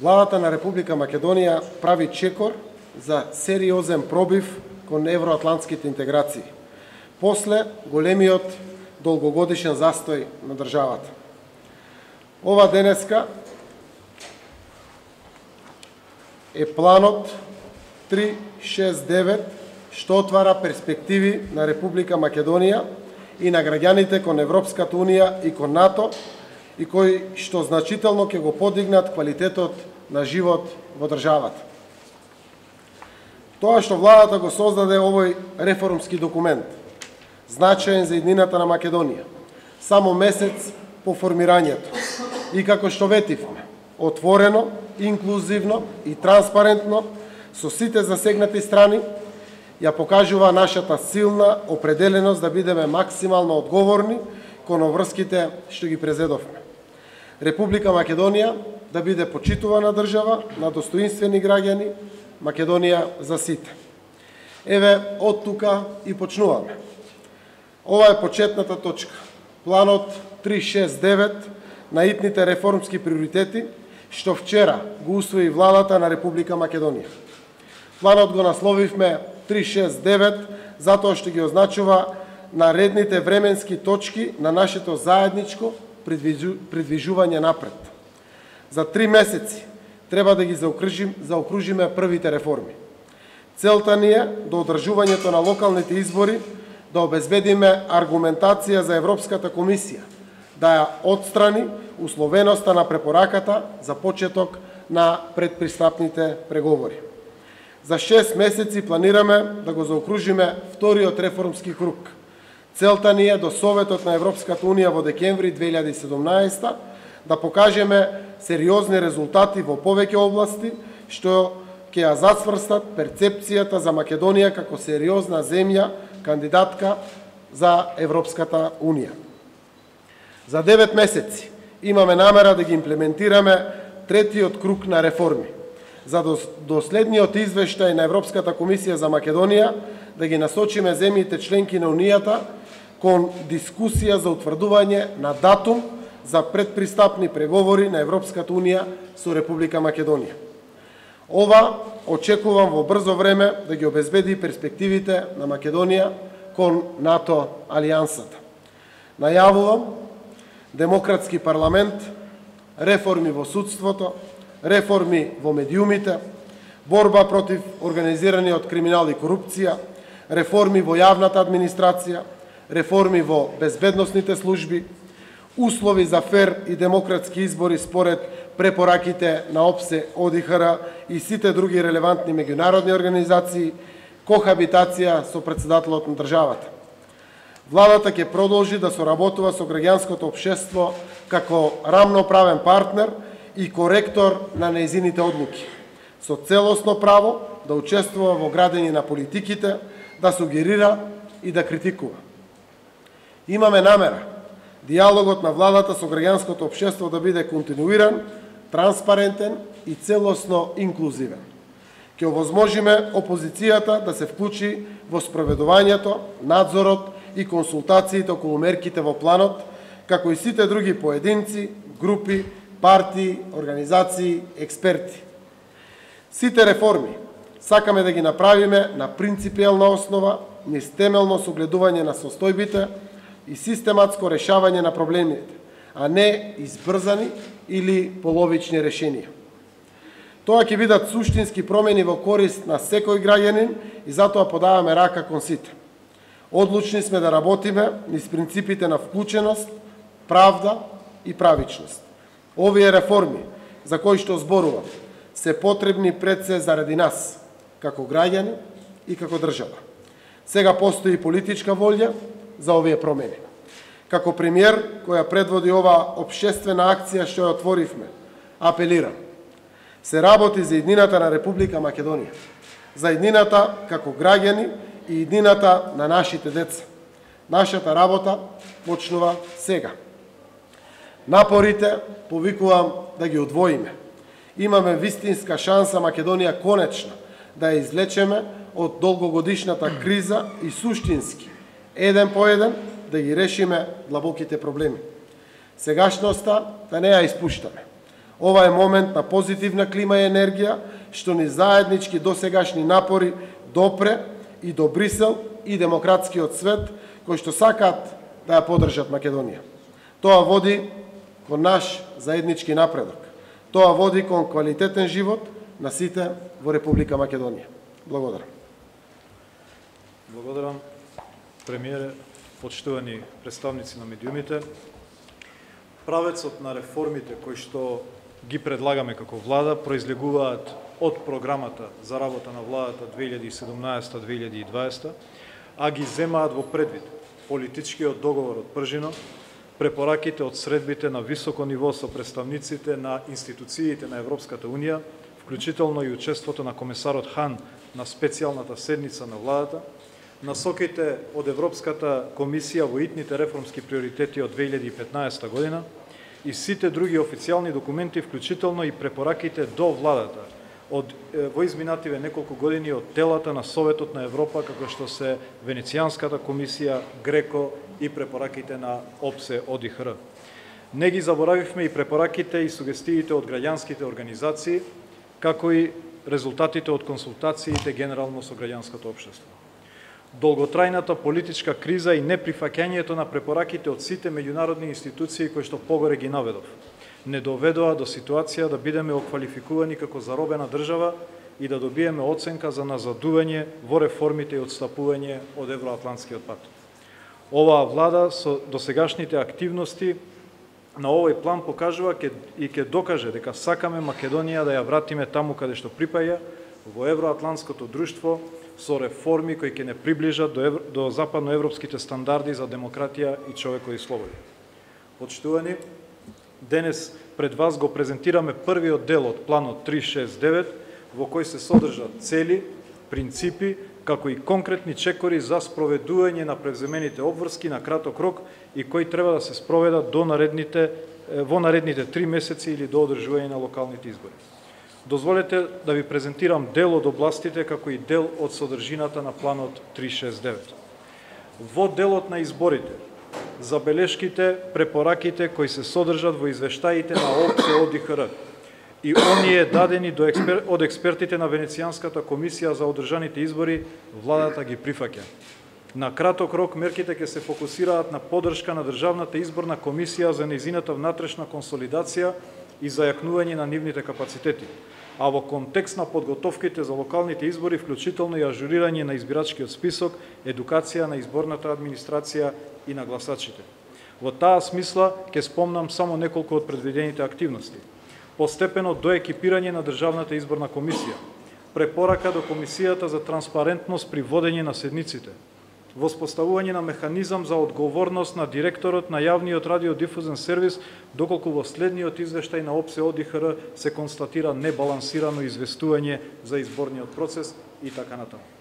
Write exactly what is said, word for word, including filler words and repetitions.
Владата на Република Македонија прави чекор за сериозен пробив кон евроатлантските интеграции, после големиот долгогодишен застој на државата. Ова денеска е планот три шест девет, што отвара перспективи на Република Македонија и на граѓаните кон Европската Унија и кон НАТО, и кои што значително ќе го подигнат квалитетот на живот во државата. Тоа што владата го создаде овој реформски документ, значаен за иднината на Македонија, само месец по формирањето, и како што ветивме, отворено, инклузивно и транспарентно, со сите засегнати страни, ја покажува нашата силна определеност да бидеме максимално одговорни кон обврските што ги презедовме. Република Македонија да биде почитувана држава на достоинствени граѓани, Македонија за сите. Еве, од тука и почнуваме. Ова е почетната точка. Планот три шест девет на итните реформски приоритети, што вчера го усвои владата на Република Македонија. Планот го насловивме три шест девет затоа што ги означува наредните временски точки на нашето заедничко придвижување напред. За три месеци треба да ги заокружим, заокружиме првите реформи. Целта ни е до одржувањето на локалните избори да обезбедиме аргументација за Европската комисија, да ја отстрани условеноста на препораката за почеток на предпристапните преговори. За шест месеци планираме да го заокружиме вториот реформски круг. Целта ни е до Советот на Европската Унија во декември две илјади и седумнаесета да покажеме сериозни резултати во повеќе области, што ќе ја зацврстат перцепцијата за Македонија како сериозна земја кандидатка за Европската Унија. За девет месеци имаме намера да ги имплементираме третиот круг на реформи, за доследниот извештај на Европската комисија за Македонија да ги насочиме земјите членки на Унијата кон дискусија за утврдување на датум за предпристапни преговори на Европската Унија со Република Македонија. Ова очекувам во брзо време да ги обезбеди перспективите на Македонија кон НАТО алијансата. Најавувам демократски парламент, реформи во судството, реформи во медиумите, борба против организираниот криминал и корупција, реформи во јавната администрација, реформи во безбедносните служби, услови за фер и демократски избори според препораките на ОПСЕ, ОДИХР и сите други релевантни меѓународни организации, кохабитација со претседателот на државата. Владата ќе продолжи да соработува со граѓанското општество како рамноправен партнер и коректор на нејзините одлуки, со целосно право да учествува во градење на политиките, да сугерира и да критикува. Имаме намера диалогот на владата со граѓанското општество да биде континуиран, транспарентен и целосно инклузивен. Ќе овозможиме опозицијата да се вклучи во спроведувањето, надзорот и консултациите околу мерките во планот, како и сите други поединци, групи, партии, организации, експерти. Сите реформи сакаме да ги направиме на принципијална основа, низ темелно согледување на состојбите и систематско решавање на проблемите, а не избрзани или половични решенија. Тоа ќе бидат суштински промени во корист на секој граѓанин и затоа подаваме рака кон сите. Одлучни сме да работиме низ принципите на вклученост, правда и правичност. Овие реформи, за кои што зборувам, се потребни пред се заради нас, како граѓани и како држава. Сега постои политичка волја за овие промени. Како премиер, која предводи ова општествена акција што ја отворивме, апелирам. Се работи за иднината на Република Македонија, за иднината како граѓани и иднината на нашите деца. Нашата работа почнува сега. Напорите повикувам да ги одвоиме. Имаме вистинска шанса Македонија конечно да ја излечеме од долгогодишната криза и суштински, еден по еден, да ги решиме длабоките проблеми. Сегашноста да не ја испуштаме. Ова е момент на позитивна клима и енергија, што ни заеднички досегашни напори допре и до Брисел и демократскиот свет, кои што сакаат да ја поддржат Македонија. Тоа води кон наш заеднички напредок. Тоа води кон квалитетен живот на сите во Република Македонија. Благодарам. Благодарам, премиере, почитувани представници на медиумите. Правецот на реформите кои што ги предлагаме како влада произлегуваат од програмата за работа на владата две илјади и седумнаесета до две илјади и дваесета, а ги земаат во предвид политичкиот договор од Пржино, препораките од средбите на високо ниво со представниците на институциите на Европската Унија, вклучително и учеството на комесарот Хан на специјалната седница на владата, насоките од Европската комисија во итните реформски приоритети од две илјади и петнаесета година и сите други официјални документи, вклучително и препораките до владата од во изминативе неколку години од телата на Советот на Европа, како што се Венецијанската комисија, Греко и препораките на ОПСЕ ОДИХР. Не ги заборавивме и препораките и сугестиите од граѓанските организации, како и резултатите од консултациите генерално со граѓанското општество. Долготрајната политичка криза и неприфаќањето на препораките од сите меѓународни институции кои што погоре ги наведов не доведоа до ситуација да бидеме оквалификувани како заробена држава и да добиеме оценка за назадување во реформите и отстапување од евроатлантскиот пат. Оваа влада со досегашните активности на овој план покажува и ќе докаже дека сакаме Македонија да ја вратиме таму каде што припаѓа, во евроатлантското друштво, со реформи кои ќе не приближат до, евро, до западноевропските стандарди за демократија и човекови слободи. Почитувани, денес пред вас го презентираме првиот дел од планот три шест девет, во кој се содржат цели, принципи, како и конкретни чекори за спроведување на превземените обврски на краток рок и кои треба да се спроведат до наредните, во наредните три месеци или до одржување на локалните избори. Дозволете да ви презентирам дел од областите како и дел од содржината на планот три шест девет. Во делот на изборите, забелешките, препораките кои се содржат во извештаите на ОПСЕ ОДИХР и оние дадени до експер... од експертите на Венецијанската комисија за одржаните избори, владата ги прифаќа. На краток рок мерките ќе се фокусираат на поддршка на Државната изборна комисија за нејзината внатрешна консолидација и зајакнување на нивните капацитети, а во контекст на подготовките за локалните избори, вклучително и ажурирање на избирачкиот список, едукација на изборната администрација и на гласачите. Во таа смисла ќе спомнам само неколку од предвидените активности. Постепено доекипирање на Државната изборна комисија, препорака до Комисијата за транспарентност при водење на седниците, воспоставување на механизам за одговорност на директорот на јавниот радиодифузен сервис, доколку во следниот извештај на ОПСЕ ОДИХР се констатира небалансирано известување за изборниот процес и така натаму.